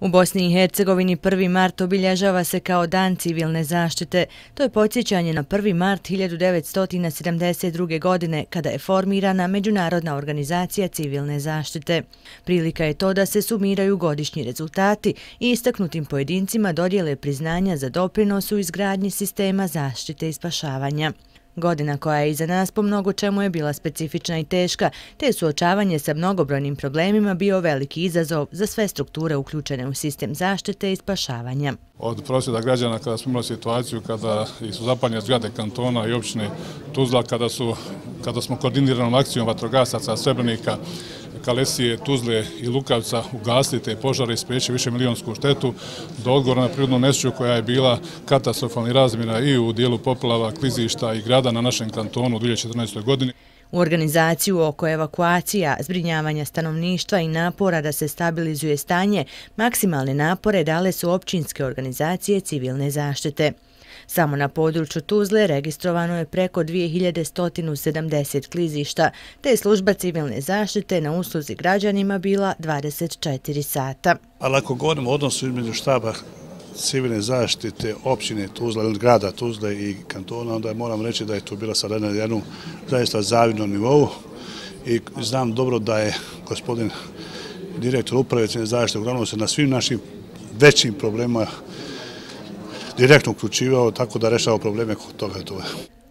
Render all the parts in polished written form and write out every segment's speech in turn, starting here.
U Bosni i Hercegovini 1. mart obilježava se kao Dan civilne zaštite. To je podsjećanje na 1. mart 1972. godine kada je formirana Međunarodna organizacija civilne zaštite. Prilika je to da se sumiraju godišnji rezultati i istaknutim pojedincima dodijele priznanja za doprinos u izgradnji sistema zaštite i spašavanja. Godina koja je iza nas po mnogo čemu je bila specifična i teška, te suočavanje sa mnogobrojnim problemima bio veliki izazov za sve strukture uključene u sistem zaštite i spašavanja. Od prosvjeda građana kada smo imali situaciju kada su zapaljene zgrade kantona i opštine Tuzla, kada smo koordiniranom akcijom vatrogasaca Srebrenika, Kalesije, Tuzle i Lukavca ugasili te požare i spriječili višemilijonsku štetu, do odgovora na prirodnu nesreću koja je bila katastrofalnih razmjera i u dijelu poplava, klizišta i grada na našem kantonu u 2014. godini. U organizaciju oko evakuacija, zbrinjavanja stanovništva i napora da se stabilizuje stanje, maksimalne napore dale su općinske organizacije civilne zaštite. Samo na području Tuzle registrovano je preko 2170 klizišta, te je služba civilne zaštite na usluzi građanima bila 24 sata. Ali ako govorimo o odnosu između štaba civilne zaštite općine Tuzla ili grada Tuzle i kantona, onda moram reći da je to bila sada na jednom zaista zavidnom nivou i znam dobro da je gospodin direktor uprave civilne zaštite uglavnom se na svim našim većim problemima direktno uključivao, tako da rešava probleme kod toga.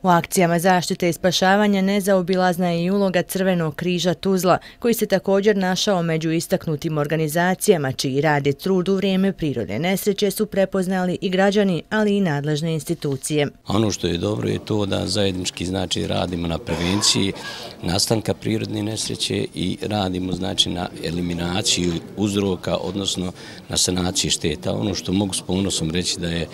U akcijama zaštite i spašavanja nezaobilazna je i uloga Crvenog križa Tuzla, koji se također našao među istaknutim organizacijama čiji rad i trud u vrijeme prirodne nesreće su prepoznali i građani, ali i nadležne institucije. Ono što je dobro je to da zajednički radimo na prevenciji nastanka prirodne nesreće i radimo na eliminaciju uzroka, odnosno na sanaciji šteta. Ono što mogu s ponosom reći da je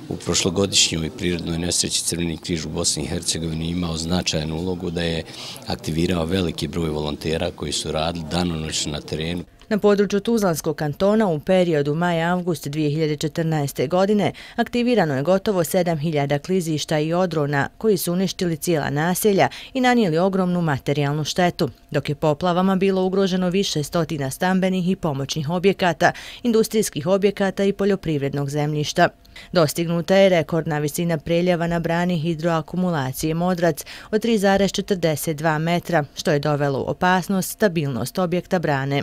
u prošlogodišnjoj prirodnoj nesreći Crveni križ u Bosni i Hercegovini imao značajnu ulogu, da je aktivirao veliki broj volontera koji su radili danonoćno na terenu. Na području Tuzlanskog kantona u periodu maj-avgust 2014. godine aktivirano je gotovo 7000 klizišta i odrona koji su uništili cijela naselja i nanijeli ogromnu materijalnu štetu, dok je poplavama bilo ugroženo više stotina stambenih i pomoćnih objekata, industrijskih objekata i poljoprivrednog zemljišta. Dostignuta je rekordna visina preljeva na brani hidroakumulacije Modrac od 3,42 metra, što je dovelo u opasnost stabilnost objekta brane.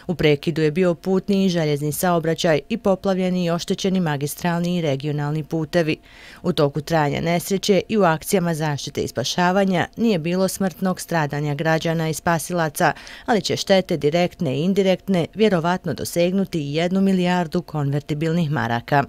U prekidu je bio putni i željezni saobraćaj i poplavljeni i oštećeni magistralni i regionalni putevi. U toku trajanja nesreće i u akcijama zaštite i spašavanja nije bilo smrtnog stradanja građana i spasilaca, ali će štete direktne i indirektne vjerovatno dosegnuti 1 milijardu konvertibilnih maraka.